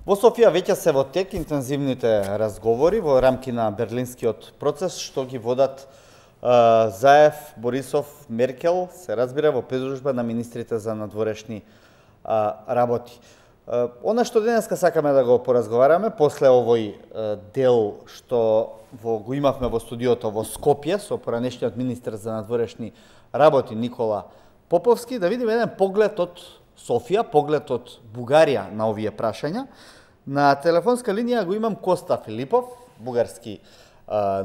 Во Софија веќе се во тек интензивните разговори во рамки на Берлинскиот процес, што ги водат Заев, Борисов, Меркел, се разбира во придружба на министрите за надворешни работи. Она што денеска сакаме да го поразговараме, после овој дел што го имавме во студиото во Скопје со поранешниот министер за надворешни работи Никола Поповски, да видиме еден поглед од Софија, поглед од Бугарија на овие прашања. На телефонска линија го имам Коста Филипов, бугарски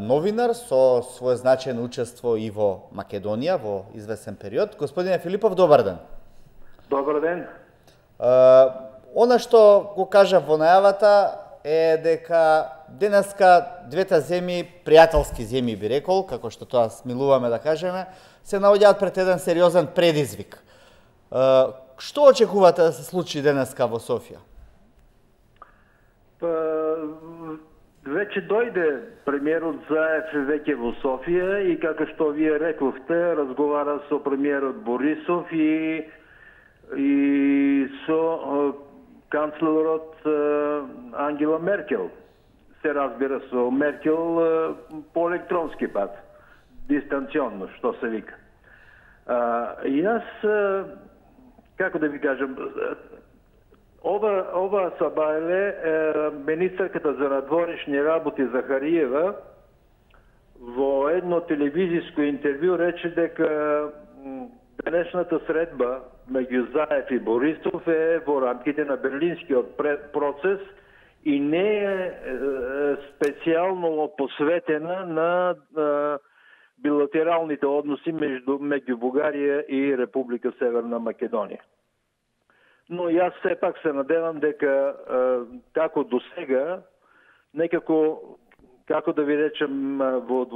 новинар со свое значајно учество и во Македонија во известен период. Господине Филипов, добар ден. Добар ден. Она што го кажав во најавата е дека денеска двете земји, пријателски земји би рекол, како што тоа смилуваме да кажеме, се наоѓаат пред еден сериозен предизвик. Што очекувате да се случи денеска во Софија? Веќе дојде премиерот Заев веќе во Софија и како што вие рековте, разговара со премиерот Борисов и со канцлерот Ангела Меркел. Се разбира со Меркел по електронски пат, дистанционно, што се вика. И јас, како да ви кажам, ова сабајле министерката за надворешни работи Захариева во едно телевизиско интервју рече дека денешната средба меѓу Заев и Борисов е во рамките на Берлинскиот процес и не е специјално посветена на билатералните односи меѓу Бугарија и Република Северна Македонија. Но јас сепак се надевам дека како до сега, некако, како да ви речем, во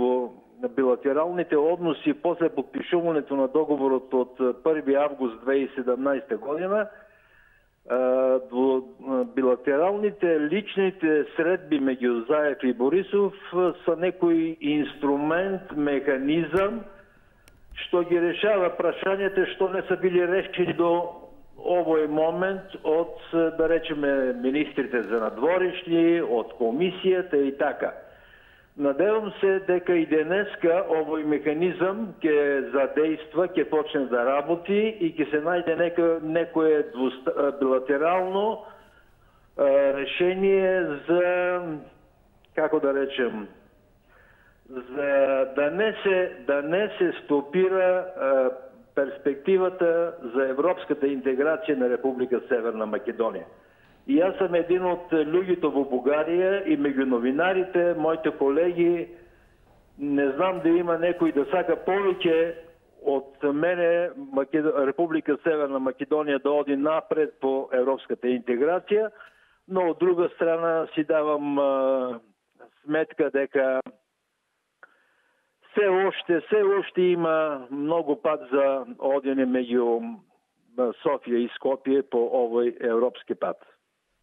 билатералните односи после подпишувањето на договорот од 1 август 2017 година, во билатералните личните средби меѓу Заев и Борисов са некој инструмент, механизам што ги решава прашањата што не са били решени до овој момент од, да речеме, министрите за надворешни, од комисијата и така. Надевам се дека и денеска овој механизам ќе задейства, ќе почне да работи и ќе се најде некое билатерално решение за, како да речем, за да не се стопира перспективата за европската интеграција на Република Северна Македонија. И јас сум един од луѓето во Бугарија и меѓу новинарите, моите колеги, не знам да има некој да сака повеќе од мене Република Северна Македонија да оди напред по европската интеграција, но од друга страна си давам сметка дека се уште има многу пат за одење меѓу Софија и Скопје по овој европски пат.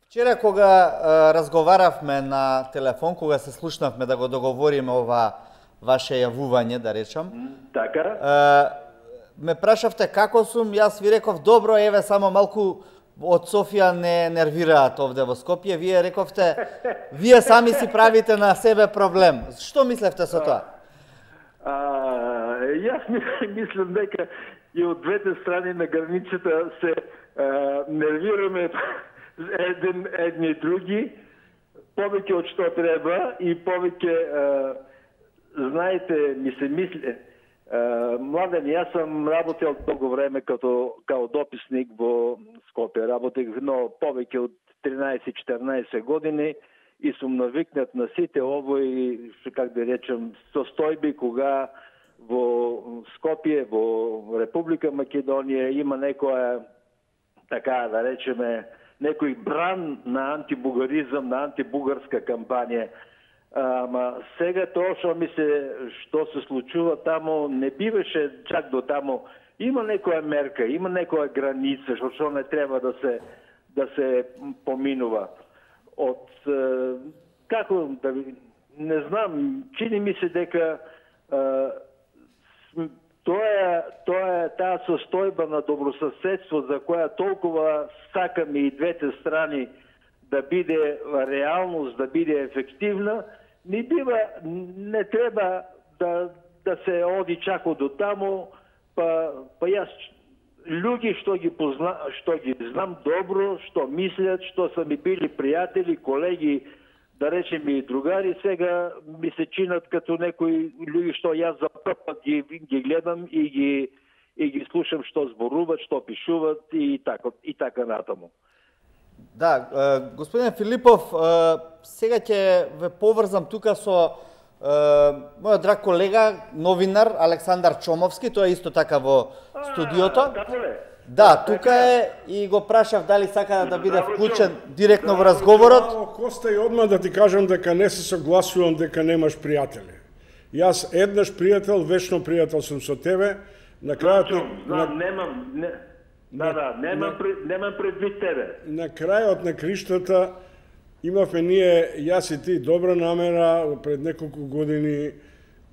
Вчера кога разговаравме на телефон, кога се слушнавме да го договориме ова ваше јавување, да речам, така, ме прашавте како сум, јас ви реков добро, еве само малку од Софија не нервираат овде во Скопје, вие рековте, вие сами си правите на себе проблем. Што мислевте со тоа? Јас мислам дека и од двете страни на границата се нервираме едни и други, повеќе од што треба и повеќе, знаете, ми се мисли, Младен, јас сам работел долго време као дописник во Скопје, работех но повеќе од 13-14 години и сум навикнат на сите овој, как да речем, состојби кога во Скопје, во Република Македонија има некоја, така да речеме, некој бран на антибугаризам, на антибугарска кампања. Ама сега тоа што се случува таму не биваше чак до таму. Има некоја мерка, има некоја граница што не треба да се поминува. Од како да не знам, чини ми се дека таа состојба на добрососедство за која толкова сакаме и двете страни да биде реалност, да биде ефективна, не треба да се оди чако до таму, па јас луѓе што ги знам добро, што мислят, што са ми били пријатели, колеги, да речем и другари, сега ми се чинат като некои луѓе што јас за прв пат ги гледам и ги слушам што зборуват, што пишуват и така натаму. Да, господине Филипов, сега ќе ве поврзам тука со мојот драг колега, новинар Александар Чомовски, тој е исто така во студиото. Да, тука е и го прашав дали сака да биде вклучен директно во разговорот. Коста, и одма да ти кажам дека не се согласувам дека немаш пријатели. Јас еднаш пријател, вечно пријател сум со тебе. На крајот немам предвид тебе. На крајот на криштата имавме ние, јас и ти, добра намера пред неколку години,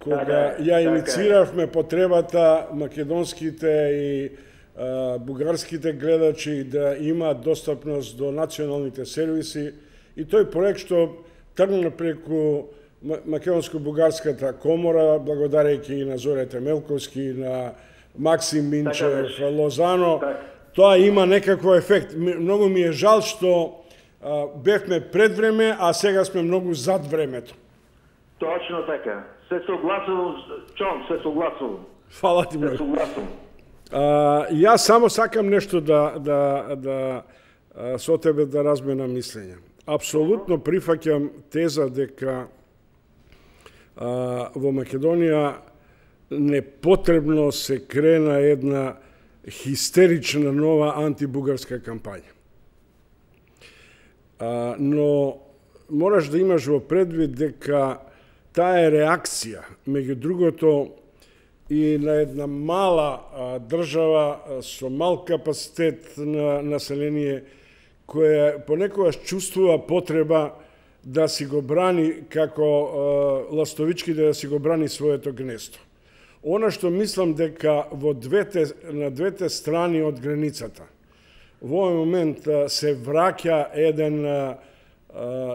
кога ја иницииравме потребата македонските и бугарските гледачи да имаат достапност до националните сервиси, и тој проект што тргна преку Македонско-бугарската комора, благодарејќи и на Зоре Темелковски, на Максим Минчев, Лозано, тоа има некакво ефект. Многу ми е жал што бевме пред време, а сега сме многу зад времето. Точно така. Се согласувам, Чом, се согласувам. Фала ти, број. Јас само сакам нешто да со тебе да разменам мислење. Апсолутно прифаќам теза дека во Македонија непотребно се крена една хистерична нова антибугарска кампања. Но мораш да имаш во предвид дека таа е реакција, меѓу другото, и на една мала држава со мал капацитет на население, која понекогаш чувствува потреба да си го брани, како ластовички да си го брани своето гнездо. Она што мислам дека на двете страни од границата во овој момент се враќа еден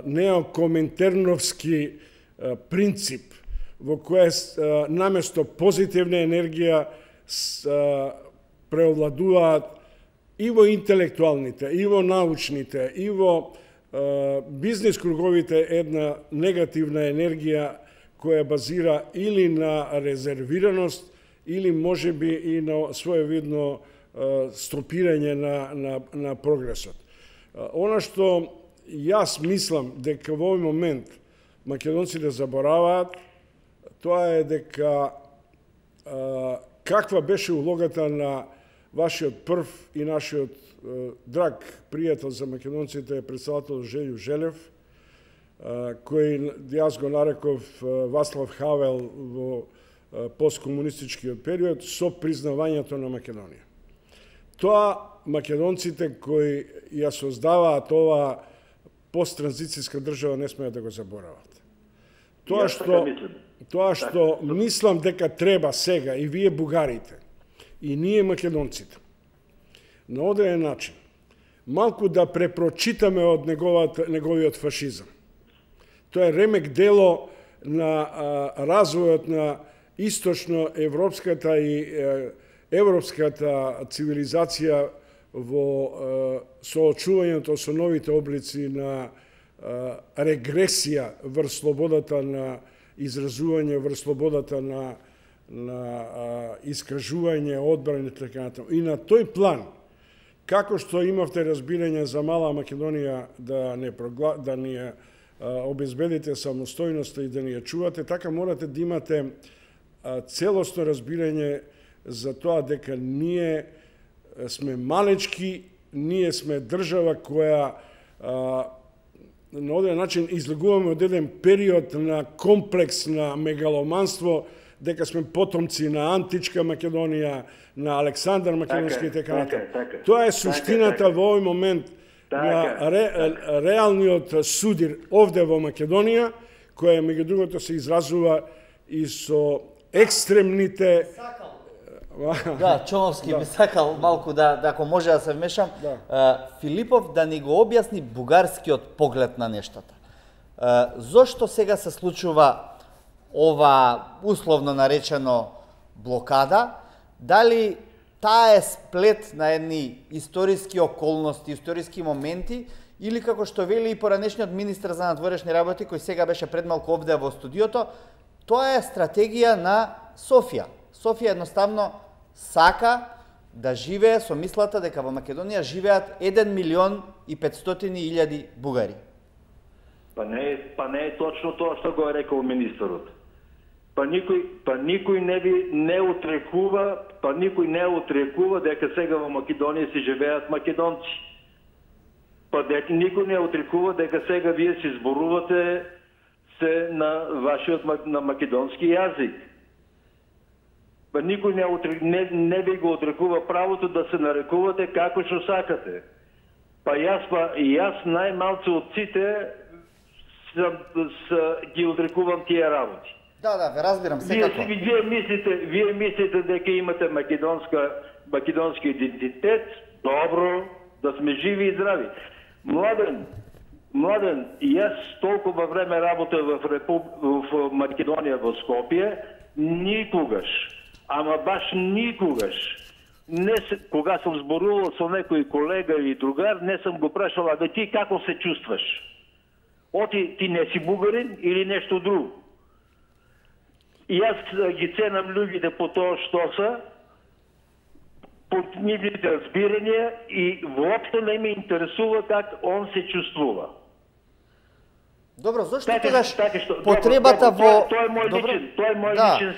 неокоминтерновски принцип во кој наместо позитивна енергија преовладуваат и во интелектуалните, и во научните, и во бизнес круговите една негативна енергија која базира или на резервираност, или можеби и на своевидно стопирање на прогресот. Она што јас мислам дека во овој момент македонците забораваат, тоа е дека каква беше улогата на вашиот прв и нашиот драг пријател за македонците, председател Желјо Желев, кој јас го нареков Васлав Хавел во посткомунистичкиот период, со признавањето на Македонија. Тоа македонците кои ја создаваат ова посттранзицијска држава не смеат да го заборават. Тоа што мислам дека треба сега и вие бугарите, и ние македонците, на одреден начин, малку да препрочитаме од неговиот фашизам. Тоа е ремек дело на развојот на источно-европската и европската цивилизација во соочувањето со новите облици на регресија врз слободата на изразување, врз слободата на искажување, одбрана и така натаму. И на тој план, како што имавте разбирање за мала Македонија да ни ја обезбедите самостојноста и да ни ја чувате, така морате да имате целосно разбирање за тоа дека ние сме малечки, ние сме држава која на одреден начин излегуваме од еден период на комплекс на мегаломанство, дека сме потомци на античка Македонија, на Александар Македонски и така натаму. Тоа е суштината во овој момент на реалниот судир овде во Македонија, која меѓу другото се изразува и со екстремните Да, Чомовски би сакал малку да ако може да се вмешам. Филипов да ни го објасни бугарскиот поглед на нештата. Зошто сега се случува ова условно наречено блокада? Дали таа е сплет на едни историски околности, историски моменти, или како што вели и поранешниот министар за надворешни работи, кој сега беше пред малку овде во студиото, тоа е стратегија на Софија. Софија едноставно сака да живее со мислата дека во Македонија живеат 1.500.000 бугари. Па не е точно тоа што го е рекол министерот. Па никој не отрекува дека сега во Македонија си живеат македонци. Па никој не отрекува дека сега вие си зборувате се на вашиот на македонски јазик. Па никој не ви го отрекува правото да се нарекувате како што сакате. Па јас најмалце од сите ги отрекувам тие работи. Да, ве разбирам секако. Вие мислите дека имате македонски идентитет, добро, да сме живи и здрави. Младен, јас толкова време работев в Македонија во Скопје, никогаш, ама баш никогаш, кога сум зборувал со некој колега или другар, не сум го прашал, а ти како се чувстваш? Ти не си бугарин или нешто друго? И јас ги ценам луѓите по тоа што се, по нивните разбирања и воопшто не ме интересува как он се чувствува. Добро, зошто тогаш потребата во... Тоа е мој личен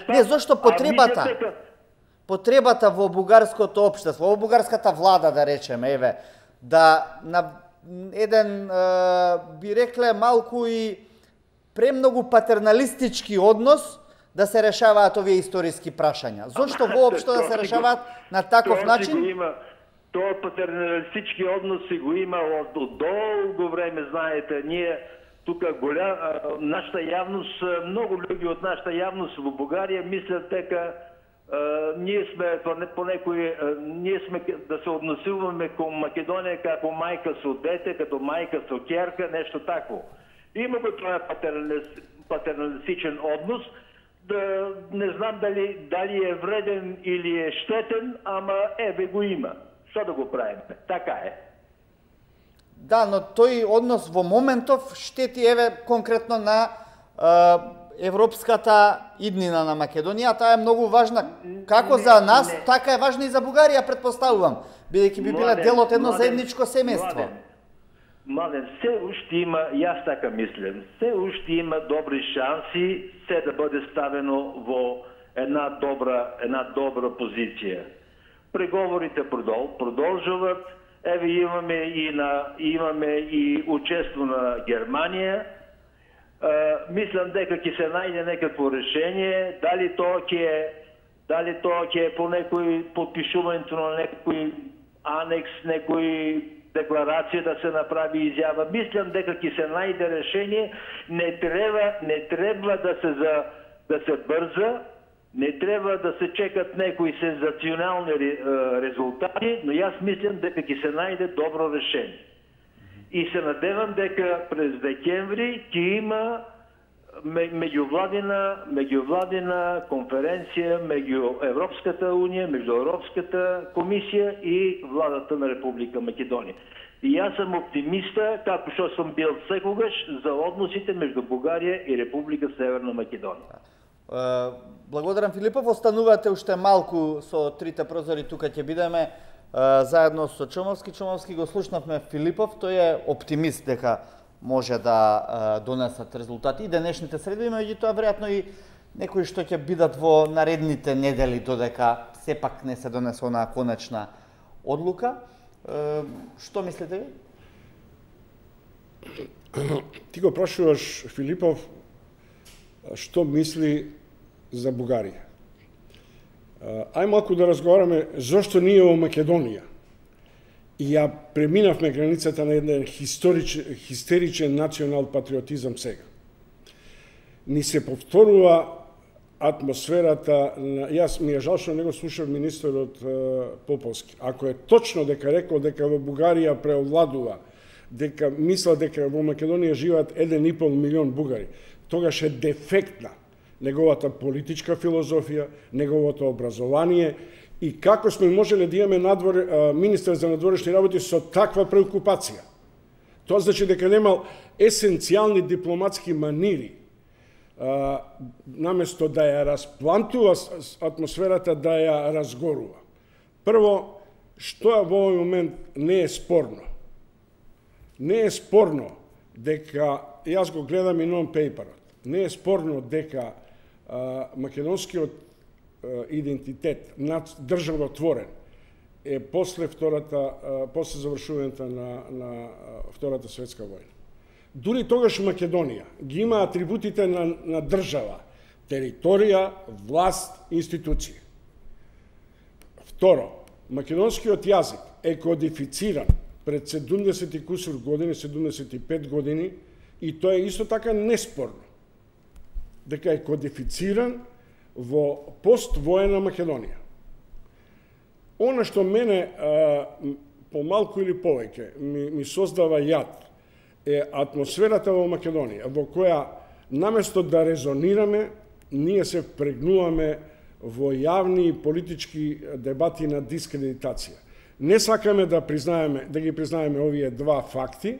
став. Не, зошто потребата во бугарското општество, во бугарската влада, да речеме, да на еден, би рекле, малку и премногу патерналистички однос да се решаваат овие историски прашања. Зошто воопшто да се решаваат на таков начин? Тоа патерналистички однос си го има од долго време, знаете, ние тука нашата јавност, многу луѓе од нашата јавност во Бугарија мислат дека ние сме да се односуваме кон Македонија како мајка со дете, като мајка со ќерка, нешто такво. Има го тоа патерналистичен однос, не знам дали е вреден или е штетен, ама го има. Што да го правиме? Така е. Да, но тој однос во моментов штети конкретно на европската иднина на Македонија. Таа е многу важна како за нас, така е важна и за Бугарија, предпоставувам, бидејќи би била дел од едно заедничко семејство. Младен, се уште има, јас така мислам, се уште има добри шанси се да биде ставено во една добра позиција. Преговорите продолжуваат. Имаме и учество на Германија. Мислам дека ќе се најде некакво решение, дали тоа ќе е по некој подпишувањето на некој анекс, некој декларација да се направи изјава. Мислам дека ќе се најде решение, не треба да се брза, не треба да се чекат некои сензационални резултати, но јас мислам дека ќе се најде добро решение. И се надевам дека през декември ќе има меѓувладина конференција меѓу Европската унија, меѓу Европската комисија и владата на Република Македонија. И јас сум оптимиста, како што сум бил секогаш, за односите меѓу Бугарија и Република Северна Македонија. Благодарам, Филипов. Останувате уште малку со трите прозори, тука ќе бидеме заедно со Чомовски. Чомовски го слушнавме Филипов, тој е оптимист дека може да донесат резултати и денешните среди, меѓутоа веројатно и некои што ќе бидат во наредните недели додека сепак не се донесе онаа конечна одлука. Што мислите ви? Ти го прашуваш Филипов што мисли за Бугарија. Ај малку да разговараме зошто ние во Македонија и ја преминавме границата на еден хистеричен национал патриотизам сега. Ни се повторува атмосферата, јас ми е жал што не го слушав министерот Поповски. Ако е точно дека рекол дека во Бугарија преовладува, дека мисла дека во Македонија живеат 1,5 милион бугари, тогаш е дефектна неговата политичка филозофија, неговото образование и како сме можеле да имаме министер за надворешни работи со таква преокупација. Тоа значи дека немал есенцијални дипломатски манири, наместо да ја расплантува атмосферата, да ја разгорува. Прво, што во овој момент не е спорно? Не е спорно дека, јас го гледам и нон-пейперот, не е спорно дека македонскиот идентитет државотворен е после завршувањето на Втората светска војна. Дури тогаш Македонија ги има атрибутите на држава, територија, власт, институции. Второ, македонскиот јазик е кодифициран пред 70 и кусур години, 75 години, и тоа е исто така неспорно, дека е кодифициран во поствоена Македонија. Она што мене помалку или повеќе ми создава јад е атмосферата во Македонија, во која наместо да резонираме, ние се впрегнуваме во јавни и политички дебати на дискредитација. Не сакаме да ги признаеме овие два факти,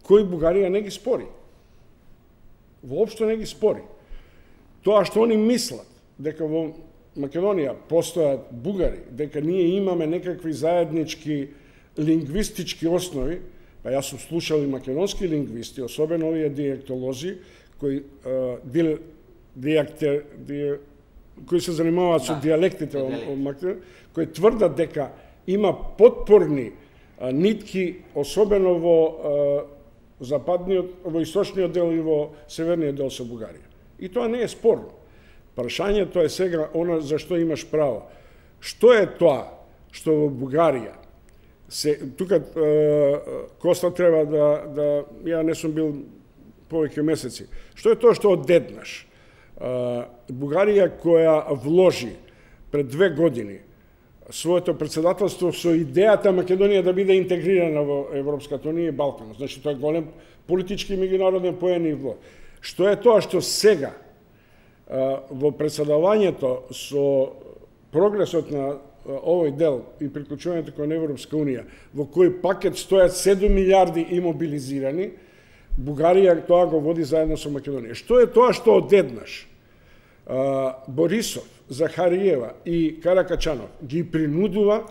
кои Бугарија не ги спори. Воопшто не ги спори. Тоа што они мислат дека во Македонија постојат бугари, дека ние имаме некакви заеднички лингвистички основи, па јас сум слушал и македонски лингвисти, особено овие дијектолози, кои се занимаваат со дијалектите во Македонија, кои тврдат дека има потпорни нитки, особено во во источниот дел и во северниот дел со Бугарија. И тоа не е спорно. Прашањето е сега она за што имаш право. Што е тоа што во Бугарија тука Коста треба да ја не сум бил повеќе месеци. Што е тоа што одеднаш Бугарија која вложи пред 2 години своето председателство со идејата Македонија да биде интегрирана во Европската унија и Балканот. Значи тоа е голем политички меѓународен поен и влог. Што е тоа што сега во председавањето со прогресот на овој дел и приклучувањето кон Европска унија, во кој пакет стојат 7 милиарди имобилизирани, Бугарија тоа го води заедно со Македонија. Што е тоа што одеднаш Борисов, Захариева и Каракачанов ги принудува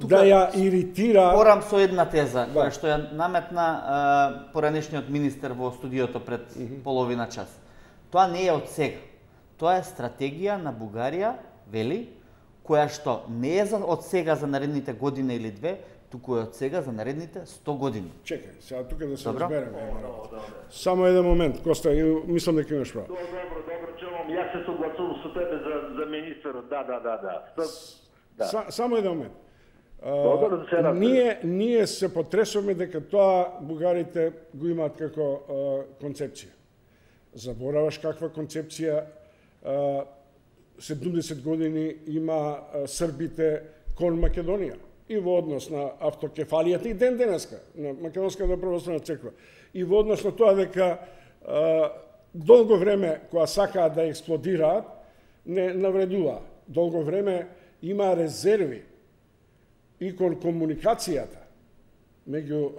да ја иритира... Порам со една теза, која што ја наметна поранешниот министер во студиото пред половина час. Тоа не е од сега. Тоа е стратегија на Бугарија, вели, која што не е од сега за наредните година или две, туку е од сега за наредните 100 години. Чекај, сега тука да се разбереме. Само еден момент, Коста, мислам дека имаш право. Добро, чувам, јас се согласувам со тебе за министерот, да. Само еден момент. Добро, ние се потресуваме дека тоа бугарите го имаат како концепција. Забораваш каква концепција 70 години има србите кон Македонија и во однос на автокефалијата и ден денеска на Македонската православна црква и во однос на тоа дека долго време кога сакаат да експлодираат не навредува. Долго време има резерви и кон комуникацијата меѓу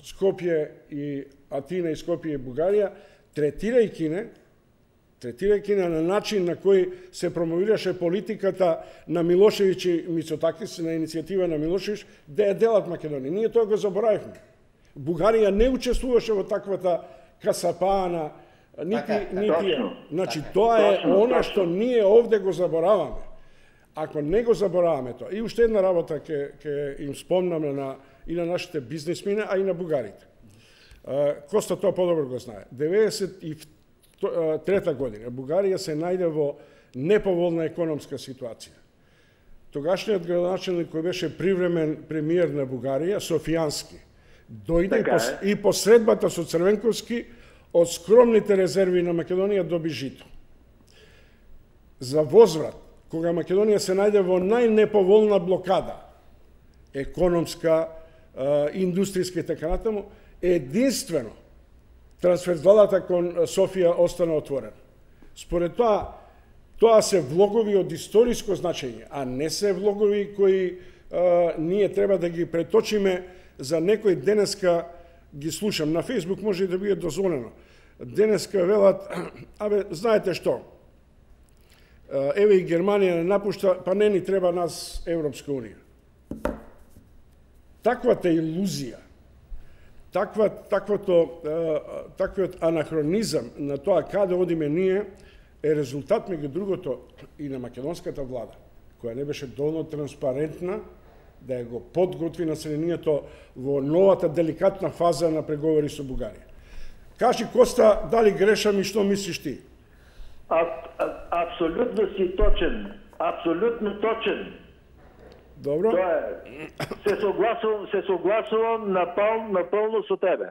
Скопје и Атина и Скопје и Бугарија, третирајќи на начин на кој се промовираше политиката на Милошевиќ и Мицотакис, на иницијатива на Милошевиќ, да ја делат Македонија. Ние тоа го заборавивме. Бугарија не учествуваше во таквата касапаана, Значи, тоа е она што ние овде го забораваме. Ако не го забораваме тоа, и уште една работа ќе им спомнаме и на нашите бизнисмени, а и на бугарите. Коста тоа подобро го знае. 1993 година Бугарија се најде во неповолна економска ситуација. Тогашниот градоначелник кој беше привремен премиер на Бугарија, Софијански, дојде и по средбата со Црвенковски од скромните резерви на Македонија доби жито. за возврат, кога Македонија се најде во најнеповолна блокада, економска, индустријска и така натаму, единствено трансферзалата кон Софија остана отворена. Според тоа се влогови од историско значење, а не се влогови кои ние треба да ги преточиме за некој. Денеска ги слушам на Фејсбук, може и да биде дозволено. Денеска велат, знаете што? Еве и Германија не напушта, па не ни треба нас Европска унија. Таквата илузија, таквиот анахронизам на тоа каде одиме ние е резултат, меѓу другото, и на македонската влада, која не беше доволно транспарентна да ја го подготви населението во новата деликатна фаза на преговори со Бугарија. Кажи, Коста, дали грешам и што мислиш ти? Апсолутно си точен. Апсолутно точен. Добро. Тоа е. Се согласувам напълно со тебе.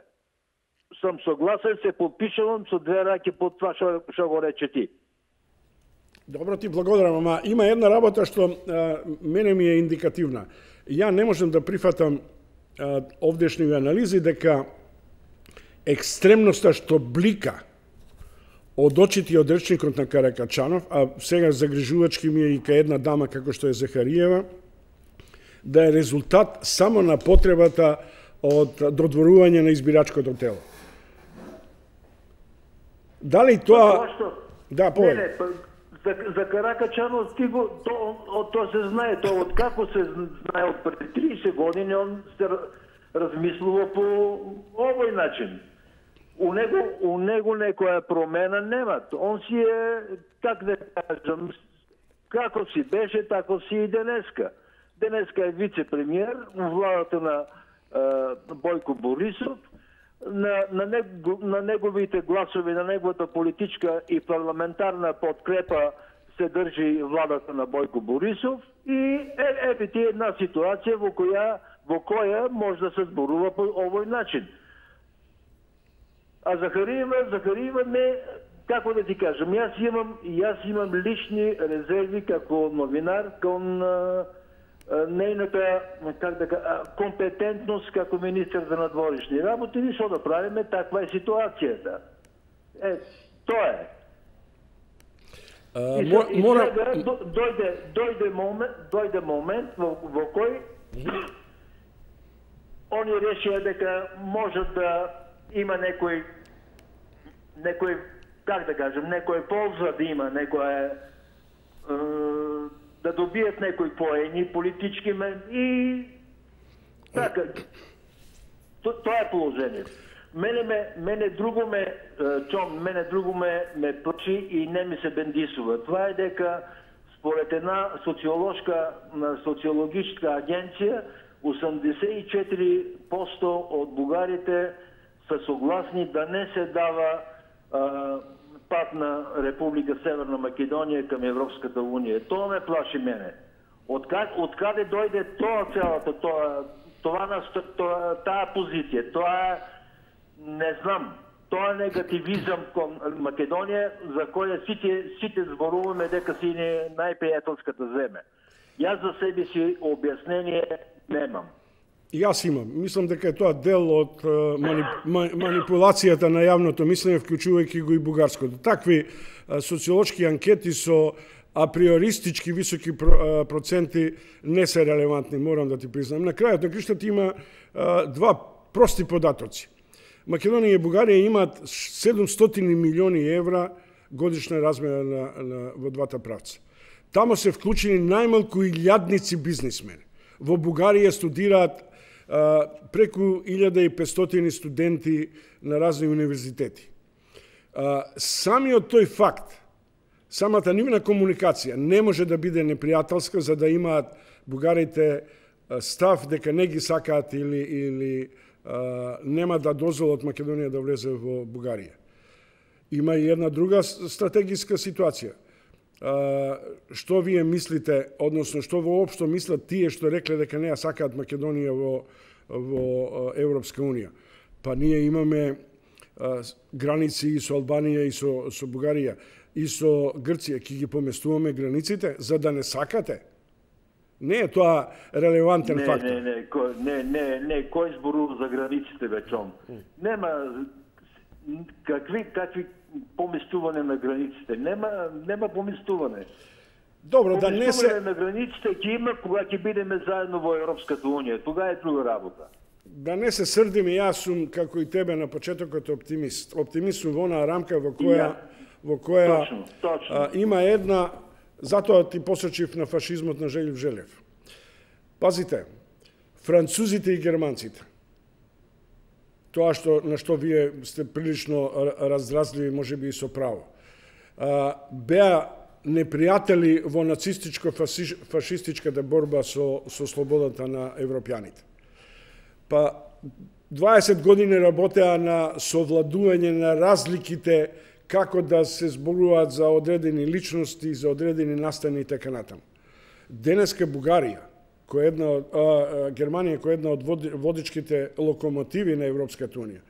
Сум согласен, се подпишувам со две раки под това што го рече ти. Добро, ти благодарам, ама има една работа што мене ми е индикативна. Ја не можам да прифатам овдешни анализи дека екстремноста што блика од очите и од речникот на Каракачанов, а сега загрижувачки ми е и кај една дама како што е Захариева, да е резултат само на потребата од додворување на избирачкото тело. Дали тоа... Да, повеќе. За Каракачанов тоа се знае, тоа од како се знае од пред 30 години, он се размислува по овој начин. У него некоја промена нема. Он си е, как да кажам, како си беше, тако си и денеска. Денеска е вице-премиер во владата на Бојко Борисов. На неговите гласови, на неговата политичка и парламентарна подкрепа се држи владата на Бојко Борисов и ете ти една ситуација во која може да се зборува по овој начин. А Захариева не, како да ти кажам, јас имам лични резерви како новинар кон нејната, как да кажа, компетентност како министер за надворешни работи, и што да правиме, таква е ситуацијата. Тоа е. И сега дојде момент во кој они решија дека може да има некој, как да кажем, некој полза да има, да добијат некои поени политички и така. Тоа е положението. Мене друго ме плачи и не ми се бендисува. Това е дека според една социологичка агенција 84% од бугарите са согласни да не се дава пат на Република Северна Македонија кам Европската унија. Тоа ме плаши мене. Откаде дојде таа позиција? Тоа не знам. Тоа негативизам кон Македонија за која сите зборуваме дека си најпријателската земја. Јас за себе си објаснение немам. Јас имам. Мислам дека е тоа дел од манипулацијата на јавното мислење, вклучувајќи го и бугарското. Такви социолошки анкети со априористички високи проценти не се релевантни, морам да ти признам. На крајот на криштот има два прости податоци. Македонија и Бугарија имаат 700 милиони евра годишна размена во двата правца. Тамо се вклучени најмалку илјадници бизнисмени. Во Бугарија студираат преку 1500 студенти на разни универзитети. Самиот тој факт, самата нивна комуникација не може да биде непријателска за да имаат бугарите став дека не ги сакаат или нема да дозволат Македонија да влезе во Бугарија. Има и една друга стратегиска ситуација. Што вие мислите, односно што воопшто мислат тие што рекле дека не ја сакаат Македонија во Европска унија? Па ние имаме граници и со Албанија и со Бугарија. и со Грција ќе ги поместуваме границите за да не сакате? Не е тоа релевантен фактор. Не, кој зборува за границите вечом? Нема какви поместување на границите. Нема поместување. Добро, да не се на границите ќе има кога ќе бидеме заедно во Европската унија. Тога е друга работа. Да не се срдим, и јас сум како и тебе на почетокот оптимист. Оптимист сум во онаа рамка во која точно. Има една, затоа ти посочив на фашизмот на Желјов Желев. Пазите, французите и германците, тоа на што вие сте прилично раздразливи, можеби и со право, беа непријатели во нацистичко-фашистичката борба со слободата на европјаните. Па 20 години работеа на совладување на разликите, како да се зборуваат за одредени личности, за одредени настани и така натаму. Денеска Бугарија, Германија, која е една од водичките локомотиви на Европската унија,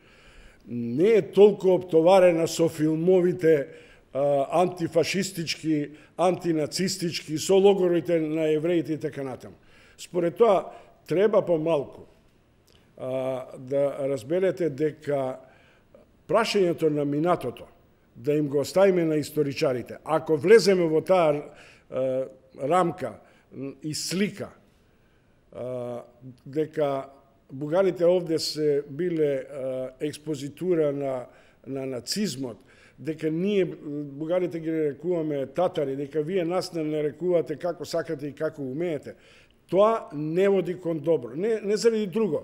не е толку оптоварена со филмовите антифашистички, антинацистички, со логорите на евреите и така натаму. Според тоа, треба помалку да разберете дека прашањето на минатото, да им го оставиме на историчарите. Ако влеземе во таа рамка и слика дека бугарите овде се биле експозитура на нацизмот, дека ние бугарите ги нарекуваме татари, дека вие нас не нарекувате како сакате и како умеете, тоа не води кон добро. Не заради друго.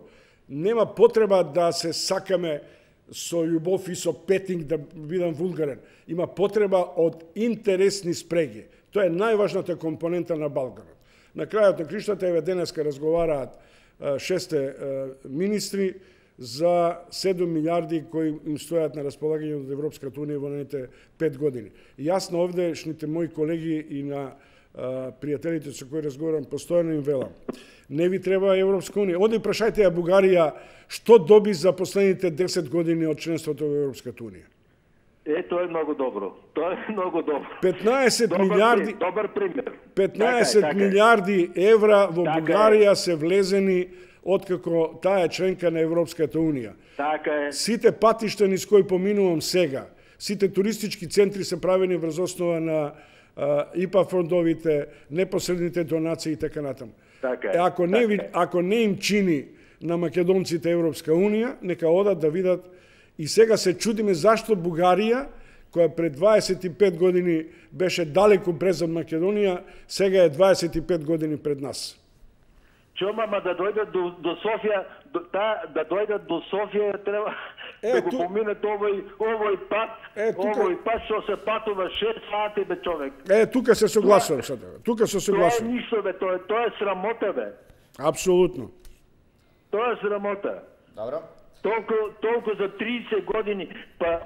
Нема потреба да се сакаме со љубов и со петинг, да бидам вулгарен. Има потреба од интересни спреги. Тоа е најважната компонента на Балканот. На крајот на криштата, еве денеска разговараат 6 министри за 7 милиарди кои им стојат на располагање од Европската унија во наredните 5 години. И јас на овдешните мои колеги и на пријателите со кои разговарам постојано им велам: не ви треба Европска унија. Оди прашајте ја Бугарија што доби за последните 10 години од членството во Европската унија. Тоа е многу добро. Тоа е многу добро. 15 милиарди, добар пример. 15 милиарди евра во Бугарија се влезени откако таа е членка на Европската унија. Така е. Сите патишта низ кои поминувам сега, сите туристички центри се правени врз основа на ИПА фондовите, непосредните донации и така натаму. Така е. Ако не им чини на македонците Европска унија, нека одат да видат. И сега се чудиме зашто Бугарија, која пред 25 години беше далеку презад Македонија, сега е 25 години пред нас. Мама да дојдат до Софија, да дојдат до Софија, треба да го поминат овој пат, овој пат што се патува 6 сати, бе, човек. Тука се согласувам со тебе. Тука се согласувам. Тоа е ништо, бе, тоа е срамота, бе. Апсолутно. Тоа е срамота. Добро. Толку за 30 години, па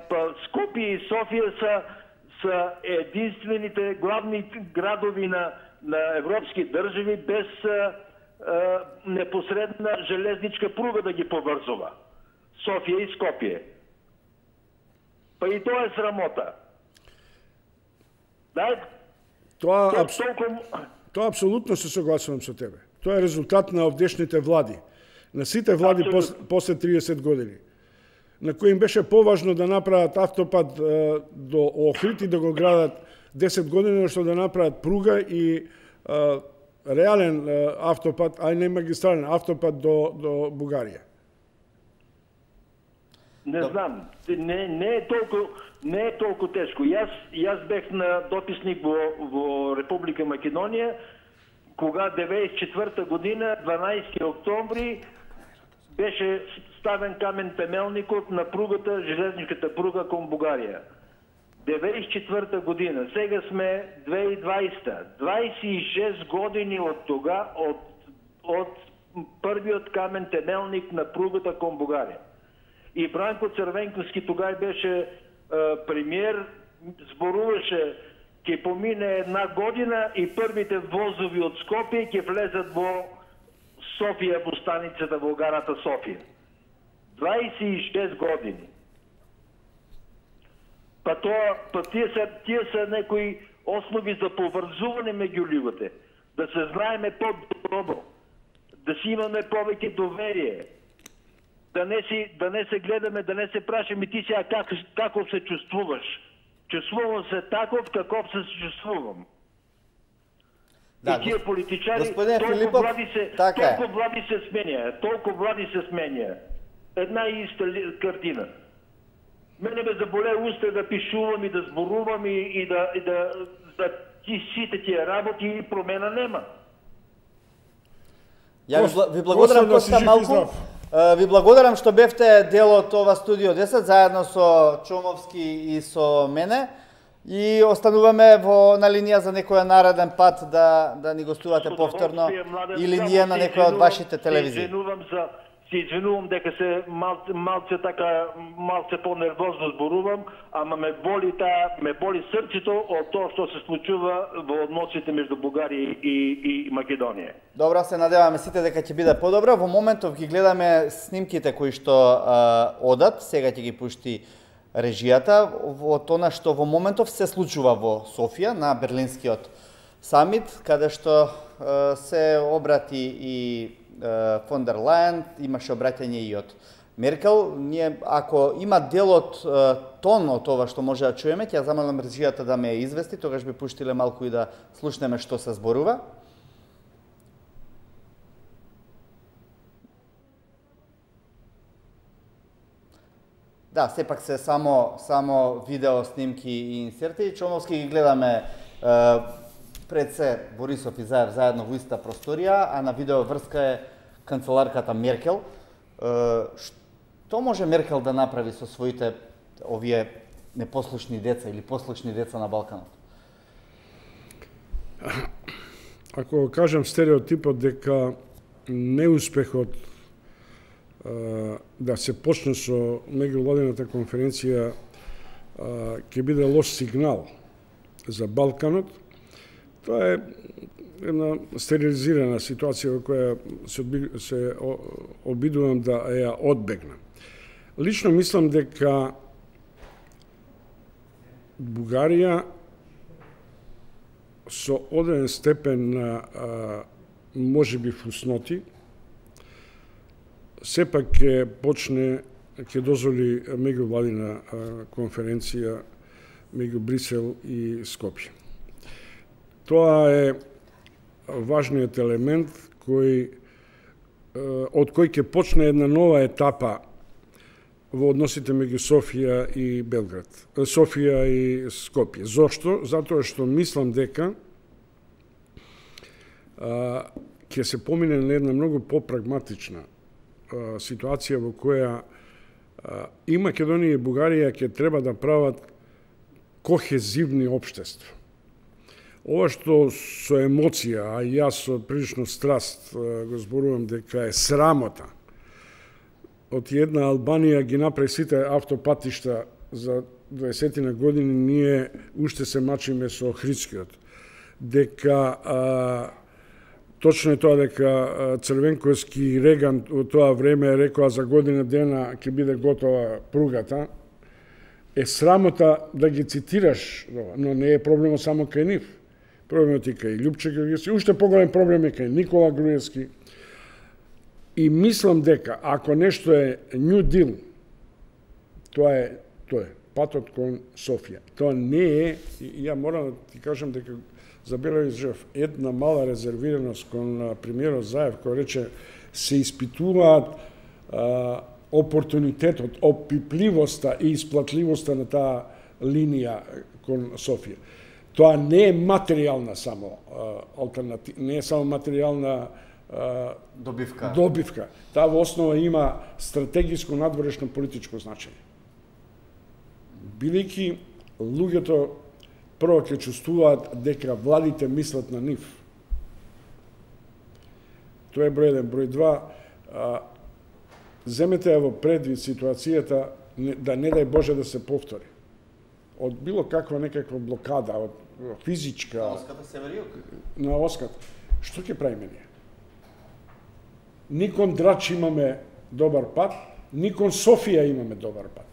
Скопје и Софија се единствените главни градови на европски држави без непосредна железничка пруга да ги поврзува. Софија и Скопје. Па и тоа е срамота. Тоа апсолутно се согласувам со тебе. Тоа е резултат на овдешните влади. На сите влади после 30 години, на кои им беше поважно да направат автопат до Охрид и да го градат 10 години, што да направат пруга и реален автопат, а не магистрален автопат до Бугарија. Не знам, не е толку тешко. Јас бех на дописник во Република Македонија, кога 94 година, 12 октомври, беше ставен камен темелникот на пругата, железничката пруга кон Бугарија. 94 година, сега сме 2020. 26 години од тога, од првиот камен темелник на пругата кон Бугарија. И Бранко Црвенковски тогај беше премиер, зборуваше ќе помине една година и првите возови од Скопје ќе влезат во Софија, во станицата во гарата Софија. 26 години. Тие се некои основи за поврзување меѓу луѓето, да се знаеме по-добро, да си имаме повеќе доверие, да не се гледаме, да не се прашаме ти сега како се чувствуваш. Чувствувам се таков каков се чувствувам. И тие политичари толку влади се сменја. Една и иста картина. Мене ме заболе уста да пишувам и да зборувам и да сите тие работи и промена нема. Ја ви благодарам Коста Малку. Ви благодарам што бевте дел од ова студио 10 заедно со Чомовски и со мене. И остануваме на линија за некој нареден пат да ни гостувате повторно или ние на некоја од вашите телевизии. Се извинувам дека се малце по-нервозно зборувам, ама ме боли срцето од тоа што се случува во односите меѓу Бугарија и Македонија. Добро, се надеваме сите дека ќе биде подобро. Во моментов ги гледаме снимките кои што одат, сега ќе ги пушти режијата од она што во моментов се случува во Софија на Берлинскиот самит, каде што се обрати и фон дер Лајен, имаше обраќање и од Меркел. Ние, ако има дел од тон од ова што може да чуеме, ќе замолам режијата да ме извести, тогаш би пуштиле малку и да слушнеме што се зборува. Да, сепак се само видео снимки и инсерти. Чомовски ги гледаме пред се Борисов и Заев заедно во иста просторија, а на видео врска е канцеларката Меркел. Што може Меркел да направи со своите овие непослушни деца или послушни деца на Балканот? Ако кажам стереотипот дека неуспехот да се почне со меѓувладината конференција ќе биде лош сигнал за Балканот, тоа е една стерилизирана ситуација во која се обидувам да ја одбегнам. Лично мислам дека Бугарија со одреден степен на можеби фусноти сепак ќе дозволи меѓувладина конференција меѓу Брисел и Скопје. Тоа е важниот елемент од кој ќе почне една нова етапа во односите меѓу Софија и Белград, Софија и Скопје. Зошто? Затоа што мислам дека ќе се помине на една многу попрагматична ситуација во која и Македонија и Бугарија ќе треба да прават кохезивни општества. Ова што со емоција, а јас со прилично страст го зборувам дека е срамота, од една Албанија ги направи сите автопатишта за 20 години, ние уште се мачиме со Охридскиот. Дека точно е тоа дека Црвенковски и Реган во тоа време рекоа за година дена ќе биде готова пругата. Е срамота да ги цитираш, но не е проблемот само кај нив. Проблемот и кај Љупче Георгиевски, уште поголем проблем е кај Никола Груевски. И мислам дека ако нешто е New Deal, тоа е патот кон Софија. Тоа не е, ја морам да ти кажам дека забележав една мала резервираност кон премиерот Заев, кој рече се испитуваат опортунитетот, опипливоста и исплатливоста на таа линија кон Софија. Тоа не е материјална само алтернатива, не е само материјална добивка. Таа во основа има стратегиско надворешно политичко значење. Бидејќи луѓето прво ќе чувствуваат дека владите мислат на нив. Тоа е број 1. Број 2, земете ја во предвид ситуацијата да не дај Боже да се повтори. Од било каква некаква блокада, од физичка... На оската север-југ? На оската. Што ќе правиме ние? Ни кон Драч имаме добар пат, ни кон Софија имаме добар пат.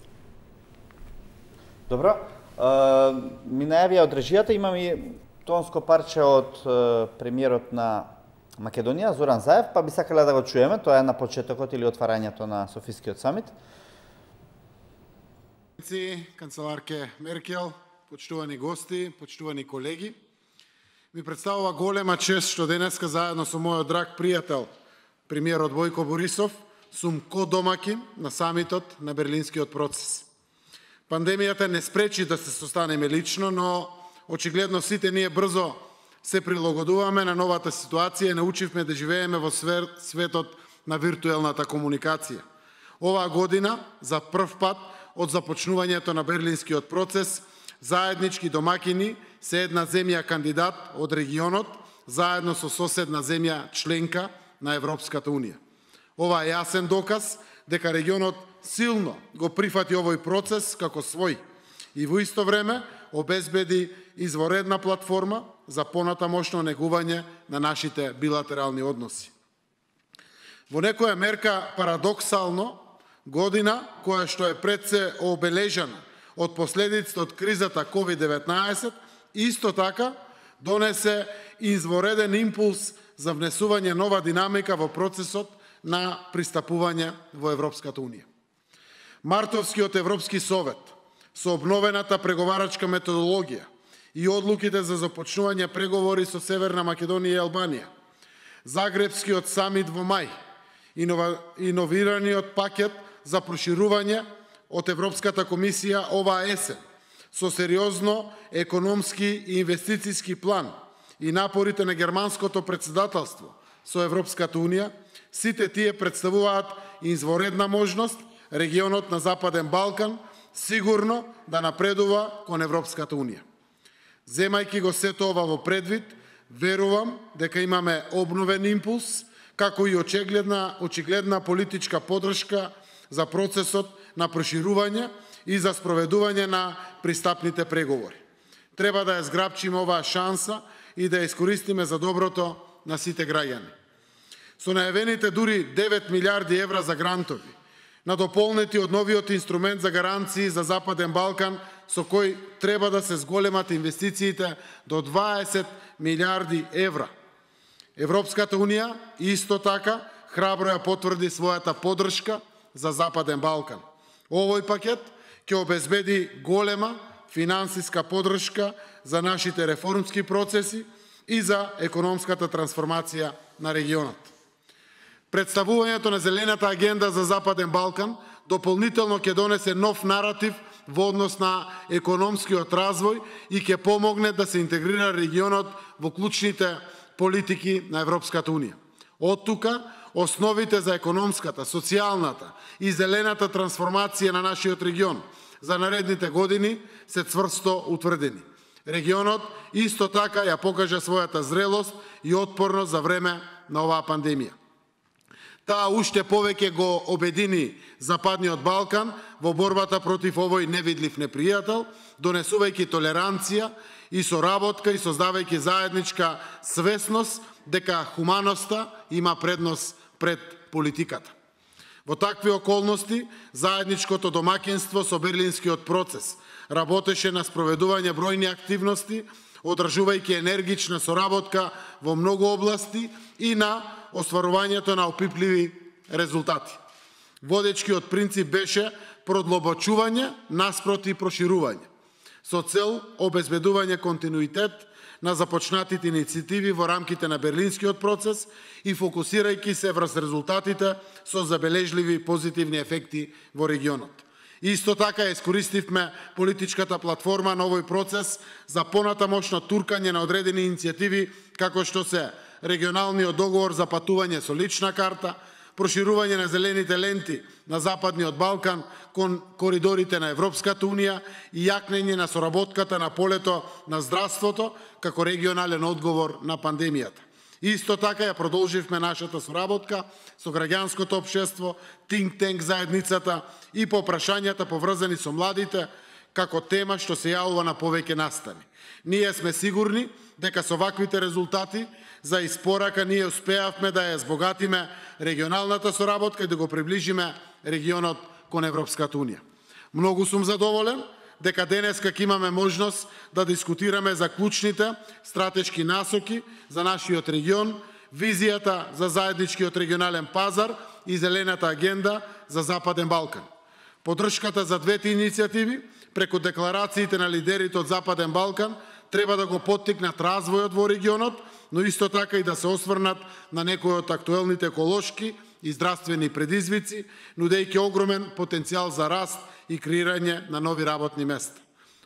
Добро. Ми најавија од режијата, имам и тонско парче од премиерот на Македонија, Зоран Заев, па би сакале да го чуеме, тоа е на почетокот или отварањето на Софискиот самит. Канцеларке Меркел, почитувани гости, почитувани колеги, ми представува голема чест што денеска заедно со мојот драг пријател, премиерот Бојко Борисов, сум ко-домакин на самитот на Берлинскиот процес. Пандемијата не спречи да се состанеме лично, но очигледно сите ние брзо се прилагодуваме на новата ситуација и научивме да живееме во светот на виртуелната комуникација. Оваа година, за прв пат од започнувањето на Берлинскиот процес, заеднички домакини се една земја кандидат од регионот, заедно со соседна земја членка на Европската Унија. Ова е јасен доказ дека регионот силно го прифати овој процес како свој и во исто време обезбеди изворедна платформа за понатамошно негување на нашите билатерални односи. Во некоја мерка парадоксално, година која што е пред се обележана од последиците од кризата COVID-19, исто така донесе извореден импулс за внесување нова динамика во процесот на пристапување во Европската Унија. Мартовскиот Европски совет со обновената преговарачка методологија и одлуките за започнување преговори со Северна Македонија и Албанија, Загребскиот самит во мај, иновираниот пакет за проширување од Европската комисија оваа есен, со сериозно економски и инвестициски план и напорите на германското председателство со Европската Унија, сите тие представуваат изворедна можност регионот на Западен Балкан сигурно да напредува кон Европската Унија. Земајќи го сето ова во предвид, верувам дека имаме обновен импулс, како и очигледна политичка подршка за процесот на проширување и за спроведување на пристапните преговори. Треба да ја зграбчиме оваа шанса и да ја искористиме за доброто на сите граѓани. Со најавените дури 9 милиарди евра за грантови, надополнети од новиот инструмент за гаранции за Западен Балкан, со кој треба да се зголемат инвестициите до 20 милиарди евра. Европската Унија исто така храбро ја потврди својата поддршка за Западен Балкан. Овој пакет ќе обезбеди голема финансиска поддршка за нашите реформски процеси и за економската трансформација на регионот. Представувањето на Зелената агенда за Западен Балкан дополнително ќе донесе нов наратив во однос на економскиот развој и ќе помогне да се интегрира регионот во клучните политики на Европската Унија. Од тука, основите за економската, социјалната и зелената трансформација на нашиот регион за наредните години се цврсто утврдени. Регионот исто така ја покажа својата зрелост и отпорност за време на оваа пандемија. Таа уште повеќе го обедини Западниот Балкан во борбата против овој невидлив непријател, донесувајќи толеранција и соработка и создавајќи заедничка свесност дека хуманоста има предност пред политиката. Во такви околности, заедничкото домакинство со Берлинскиот процес работеше на спроведување бројни активности, одржувајќи енергична соработка во многу области и на остварувањето на опипливи резултати. Водечкиот принцип беше продлобочување наспроти проширување, со цел обезбедување континуитет на започнатите иницијативи во рамките на Берлинскиот процес и фокусирајќи се врз резултатите со забележливи позитивни ефекти во регионот. Исто така искористивме политичката платформа на овој процес за понатамошно туркање на одредени иницијативи, како што се регионалниот договор за патување со лична карта, проширување на зелените ленти на Западниот Балкан кон коридорите на Европската Унија и јакнење на соработката на полето на здравството како регионален одговор на пандемијата. Исто така ја продолживме нашата соработка со граѓанското општество, think tank заедницата и по прашањата поврзани со младите како тема што се јавува на повеќе настани. Ние сме сигурни дека со ваквите резултати за испорака ние успеавме да ја збогатиме регионалната соработка и да го приближиме регионот кон Европската Унија. Многу сум задоволен дека денеска ќе имаме можност да дискутираме за клучните стратешки насоки за нашиот регион, визијата за заедничкиот регионален пазар и зелената агенда за Западен Балкан. Поддршката за двете иницијативи преку декларациите на лидерите од Западен Балкан треба да го поттикнат развојот во регионот, но исто така и да се осврнат на некои од актуелните еколошки и здравствени предизвици, нудејќи огромен потенцијал за раст и креирање на нови работни места.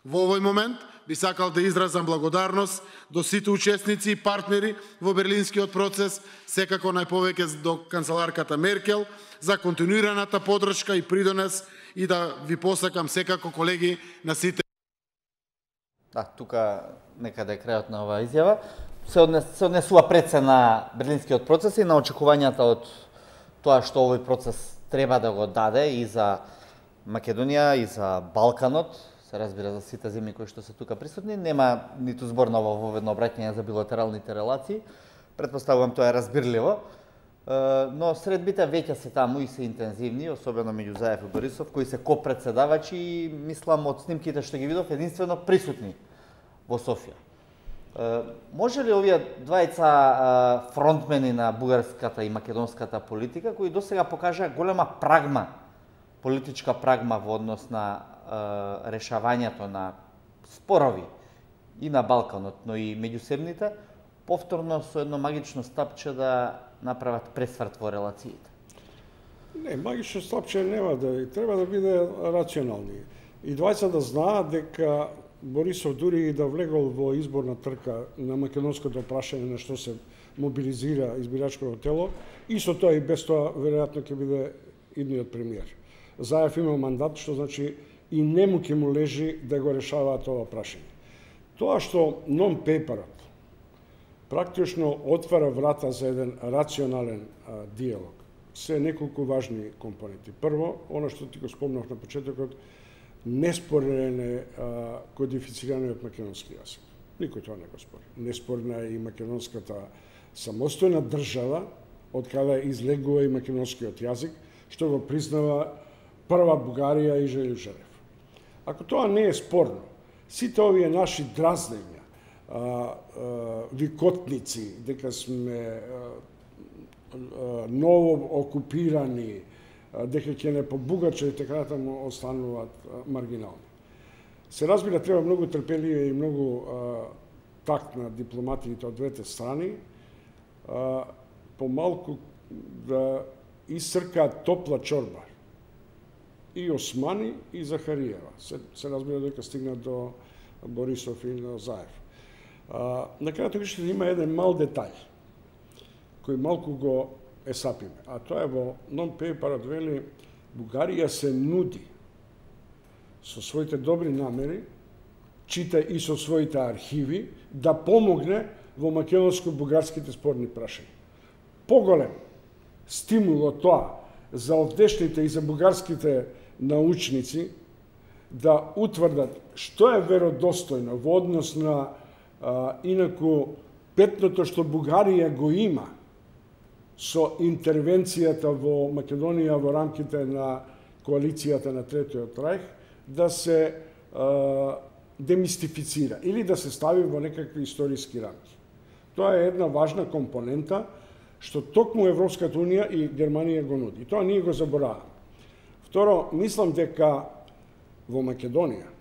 Во овој момент би сакал да изразам благодарност до сите учесници и партнери во берлинскиот процес, секако најповеќе до канцеларката Меркел, за континуираната поддршка и придонес и да ви посакам секако, колеги, на сите. Да, тука некаде е крајот на оваа изјава. Се однесува пред се на берлинскиот процес и на очекувањата од тоа што овој процес треба да го даде и за Македонија и за Балканот, се разбира за сите земји кои што се тука присутни. Нема ниту збор на воведно обраќање за билатералните релации. Предпоставувам тоа е разбирливо. Но средбите веќе се таму и се интензивни, особено меѓу Заев и Борисов, кои се копредседавачи и мислам од снимките што ги видов единствено присутни во Софија. Може ли овие двајца фронтмени на бугарската и македонската политика, кои досега покажаа голема прагма, политичка прагма во однос на решавањето на спорови и на Балканот, но и меѓусебните, повторно со едно магично стапче да направат пресврт во релациите? Не, магично стапче нема да треба да биде рационални. И двајца да знаат дека Борисов дури и да влегол во изборна трка на македонското прашање на што се мобилизира избирачкото тело, исто тоа и без тоа веројатно ќе биде идниот премиер. Заев има мандат, што значи и нему ќе му лежи да го решаваат ова прашање. Тоа што нон-пейперот практично отвара врата за еден рационален диалог. Се неколку важни компоненти. Прво, оно што ти го спомнав на почетокот, неспорен е кодифицираниот македонски јазик. Никој тоа не го спори. Неспорна е и македонската самостојна држава, од каде излегува и македонскиот јазик, што го признава прва Бугарија и Желјо Желев. Ако тоа не е спорно, сите овие наши дразнења, викотници, дека сме ново окупирани, дека ќе не побугача и така натаму остануваат маргинални. Се разбира, треба многу трпеливе и многу такт на дипломатиите од двете страни, помалку да исцркаат топла чорба и Османи и Захариева. Се разбира дека стигна до Борисов и до Заев. На крајот ќе има еден мал детај кој малку го есапиме, а тоа е во нон-пейперот вели Бугарија се нуди со своите добри намери, чита и со своите архиви, да помогне во македонско-бугарските спорни прашања. Поголем стимул од тоа за овдешните и за бугарските научници да утврдат што е веродостојно во однос на инаку петното што Бугарија го има со интервенцијата во Македонија во рамките на коалицијата на Третиот рајх, да се демистифицира или да се стави во некакви историски рамки. Тоа е една важна компонента што токму Европската Унија и Германија го нуди. Тоа ние го забораваме. Второ, мислам дека во Македонија,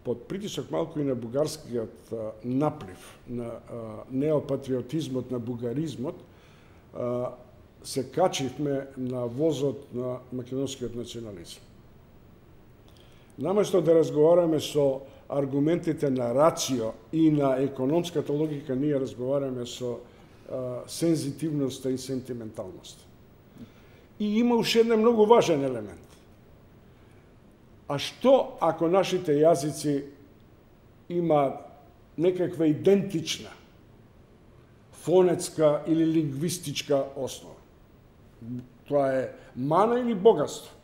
под притисок малку и на бугарскиот наплив, на неопатриотизмот, на бугаризмот, се качивме на возот на македонскиот национализм. Наместо да разговараме со аргументите на рацио и на економската логика, ние разговараме со сензитивноста и сентименталноста. И има уште еден многу важен елемент. А што ако нашите јазици има некаква идентична фонетска или лингвистичка основа? Тоа е мана или богатство?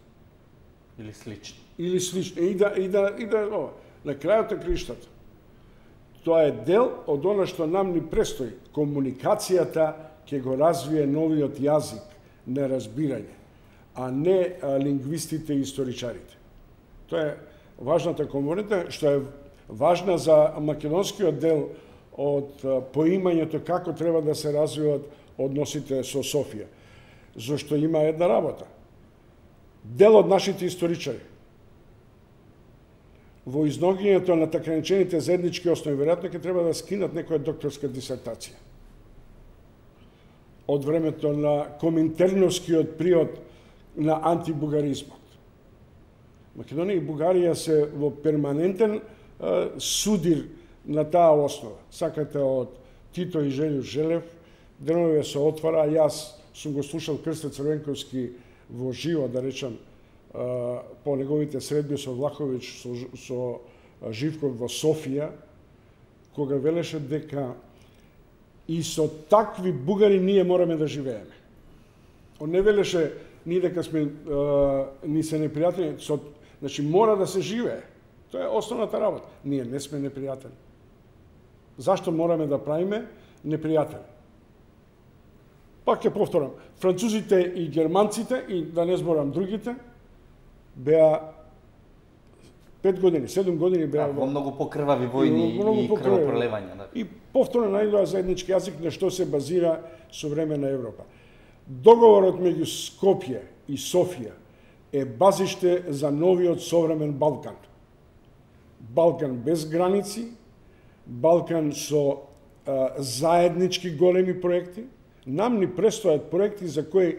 Или слично. Или слично. И да на крајот на криштата. Тоа е дел од она што нам ни престои. Комуникацијата ќе го развие новиот јазик на разбирање, а не лингвистите и историчарите. Тоа е важната компонента, што е важна за македонскиот дел од поимањето како треба да се развиваат односите со Софија. Зашто има една работа. Дел од нашите историчари во изногињето на така наречените заеднички основи веројатно ќе треба да скинат некоја докторска дисертација од времето на коминтерновскиот период на антибугаризмот. Македонија и Бугарија се во перманентен судир на таа основа. Сакате од Тито и Желјо Желев, денове се отвара, јас сум го слушал Крсте Црвенковски во живо, да речам, по неговите средби со Влаховиќ, со Живков во Софија, кога велеше дека и со такви бугари ние мораме да живееме. Он не велеше ние дека сме ни се непријатели, значи мора да се живее. Тоа е основната работа. Ние не сме непријатели. Зашто мораме да правиме непријатели? Пак ќе повторам, французите и германците, и да не зборам другите, беа 5 години, 7 години беа во многу покрвави војни и крвопролевања. И повторно најдоа заеднички јазик на што се базира современа Европа. Договорот меѓу Скопје и Софија е базиште за новиот современ Балкан. Балкан без граници, Балкан со заеднички големи проекти. Нам ни престојат проекти за кои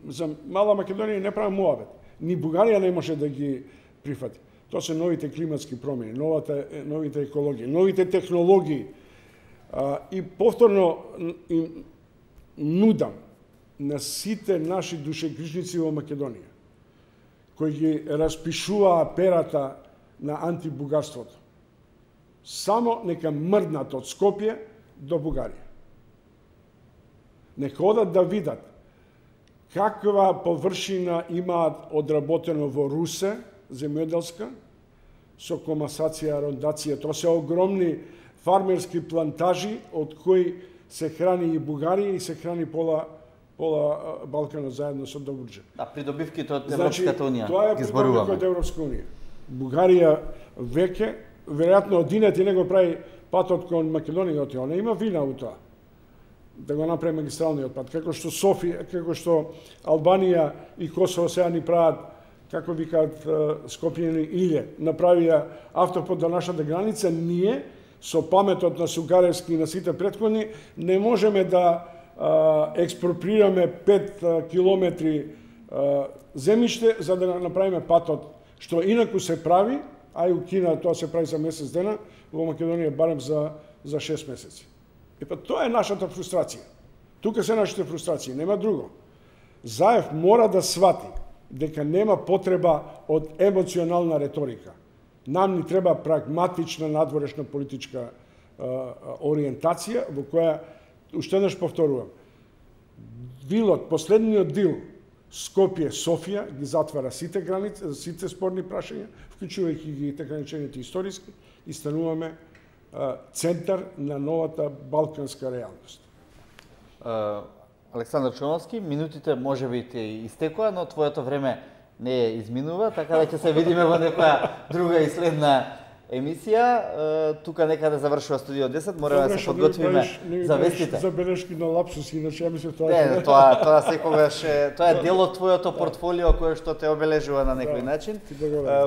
за мала Македонија не прави муабет. Ни Бугарија не може да ги прифати. Тоа се новите климатски промени, новите екологии, новите технологии. И повторно им нудам на сите наши душегрижници во Македонија, кои ги распишуваа перата на антибугарството, само нека мрднат од Скопје до Бугарија. Нека одат да видат каква површина имаат одработено во Русе, земјоделска, со комасација, рондација. Тоа се огромни фармерски плантажи од кои се храни и Бугарија и се храни пола Балканот заедно со Добруджа. А придобивките од Европската унија ги зборуваме. Тоа е придобивка од Европска унија. Бугарија веќе, веројатно одинет и него прави патот кон Македонија, она има вина у тоа. Да го направи магистралниот пат, како што Софија, како што Албанија и Косово сега ни прават, како викаат Скопјани Иле, направија автопот до нашата граница, ние со паметот на Сугаревски и на сите претходни не можеме да експроприираме 5 километри земјиште за да направиме патот, што инаку се прави, а и у Кина тоа се прави за месец дена, во Македонија барем за 6 месеци. Тоа е нашата фрустрација. Тука се нашите фрустрации, нема друго. Заев мора да свати дека нема потреба од емоционална реторика. Нам ни треба прагматична надворешна политичка ориентација во која, уште еднаш повторувам, дилот, последниот дил Скопје-Софија ги затвара сите граници, сите спорни прашања, вклучувајќи ги така наречените историски, и стануваме центар на новата балканска реалност. Александар Чомовски, минутите можеби ти истекоа, но твоето време не изминува, така да ќе се видиме во некоја друга и следна емисија. Тука некаде завршува Студио 10, мораме да се подготвиме за вестите. Забелешки на лапсуси, иначе ја мислев тоа. Не, тоа секогаш тоа е дел од твоето портфолио кое што те обележува на некој начин.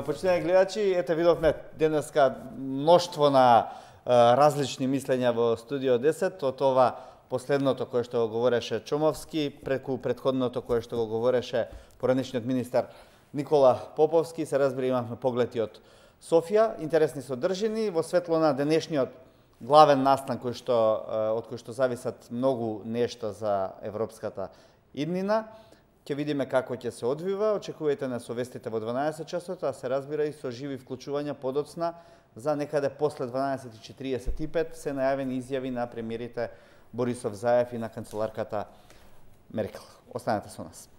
Почитувани гледачи, ете видовме денеска мноштво на различни мислења во Студио 10, од ова последното кое што го говореше Чомовски, преку претходното кое што го говореше поранешниот министар Никола Поповски, се разбира имавме погледи од Софија, интересни содржини во светло на денешниот главен настан од кој што зависат многу нешта за европската иднина. Ќе видиме како ќе се одвива, очекувајте на совестите во 12 часот, а се разбира и со живи вклучувања подоцна за некаде после 12:45 се најавени изјави на премиерите Борисов Заев и на канцеларката Меркел. Останете со нас.